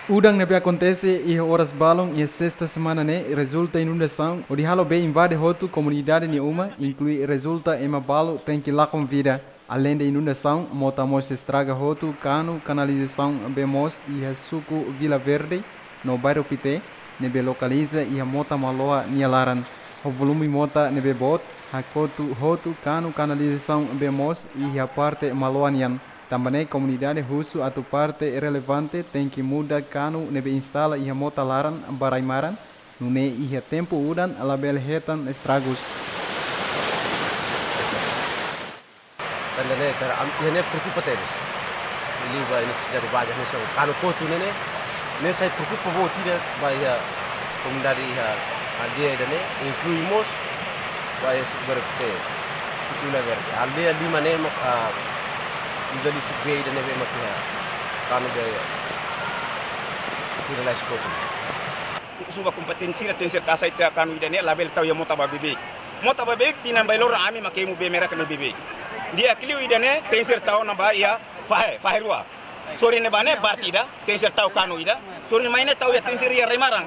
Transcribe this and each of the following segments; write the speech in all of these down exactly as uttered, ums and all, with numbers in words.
Udan ne'ebé akontese iha oras balun iha sesta semana ne'e rezulta inundasaun, hodi halo bee invade hotu komunidade nia uma, inklui rezulta ema balu tenke lakon vida. Aleinde inundasaun, mota mós estraga hotu kanu kanalizasaun bee moos iha suku Vila Verde no bairru Pité, ne'ebé lokaliza iha mota Maloa nia laran. Ho volume mota ne'ebé boot, hakotu hotu kanu kanalizasaun bee moos iha parte Maloa nian. Tanba ne'e komunidade husu atu parte relevante tenke muda kanu ne'ebé instala iha mota laran ba rai-maran, nune'e iha tempu udan labele hetan estragus. Tanba ne'e, tanba am-, ida-ne'e preokupa tebes. Liuliu ba nesesidade báziku hanesan kanu kotu ne'e, ne'e sai preokupa boot ida ba iha komunidade iha aldeia ida-ne'e, inklui mós ba iha suku Verde, suku Vila Verde. Aldeia lima ne'e mak, ah, uza liu suku bee ida-ne'e bee mak iha kanu bee tira lais kotu. Husu ba kompetente sira tenke ser tasa ita kanu ida-ne'e labele tau iha mota ba bebeik. Mota ba bebeik tinan bainhira loron ami mak emu bee merah ne'e bebeik. Di'ak liu ida-ne'e tenke ser tau ona ba iha fahe, fahe rua. Sorin ne'ebá ne'e parte ida, tenke ser tau kanu ida. Sorin mai ne'e tau iha tenke ser iha rai-maran.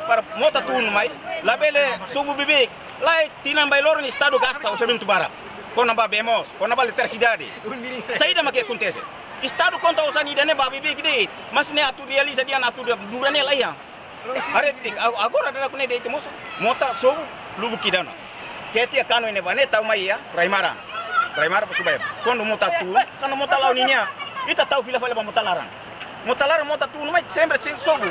Para mota tun mai, labele sobu bebeik. Lae, tinan bainhira loron Estadu gasta orsamentu barak. Kona-ba bee moos, kona-ba eletrisidade. Saida mak akontese? Estadu konta osan ida-ne'e ba bebeik de'it. Mas ne'e atu realiza dehan atu dura ne'e laiha. Haree tiha, a-, agora dadauk ne'e de'it mós, mota sobu lubuk ida ona. Keta iha kanu ne'ebá ne'e tau mai iha rai-maran. Rai-maran ba Subair. Kuandu mota tun, kuandu mota la'o ninia, ita tau fila fali ba mota laran. Mota laran mota tun mai sempre sei sobu.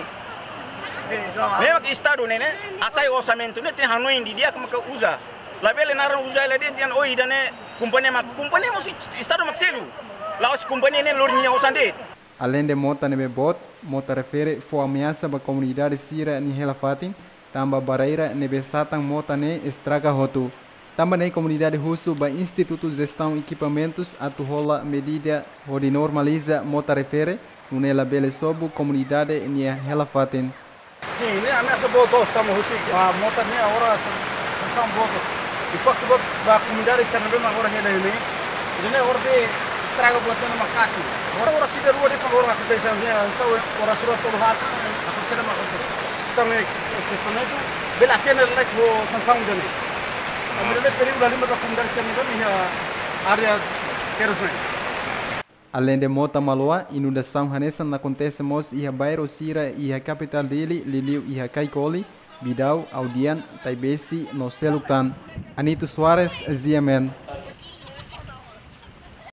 Memang Estadu ne'e, ne'e hasai orsamentu ne'e tenke hanoin didi'ak maka uza. Labele naran uza hela de'it dehan, oh, ida-ne'e kompañia mak, kompañia mós Estadu mak selu. La'ós kompañia ne'e lori nia osan de'it. Aleinde mota ne'ebé boot, mota refere fó ameasa ba komunidade sira nia hela-fatin, tanba barreira ne'ebé satan mota ne'e estraga hotu. Tanba ne'e komunidade husu ba Institutu Jestaun Ekipamentus atu hola medida hodi normaliza mota refere, nune'e labele sobu komunidade nia hela-fatin. Sin, ne'e ameasa boot, tanba husi, ah, mota ne'e agora sa-, sansaun boot. Impaktu boot ba komunidade sira ne'ebé mak agora hela ne'e. Ida-ne'e agora bee estraga buat ne'e maka'as. Agora, agora sida rua de'it agora akontese ne'e, sa agora sira tolu haat, akontese ne'e mak akontese. Tanba ne'e, kestaun ne'e atu bele atende lais ho sansaun ida-ne'e. Tanba ne'e perigu dala ruma ba komunidade sira ne'ebé iha área terus ne'e. Aleinde mota Maloa, inundasaun hanesan akontese mós iha bairru sira iha kapitál Dili, liuliu iha Kaikoli, Bidau, Audian, Taibesi, no seluk tan. Anito Soares, G M N.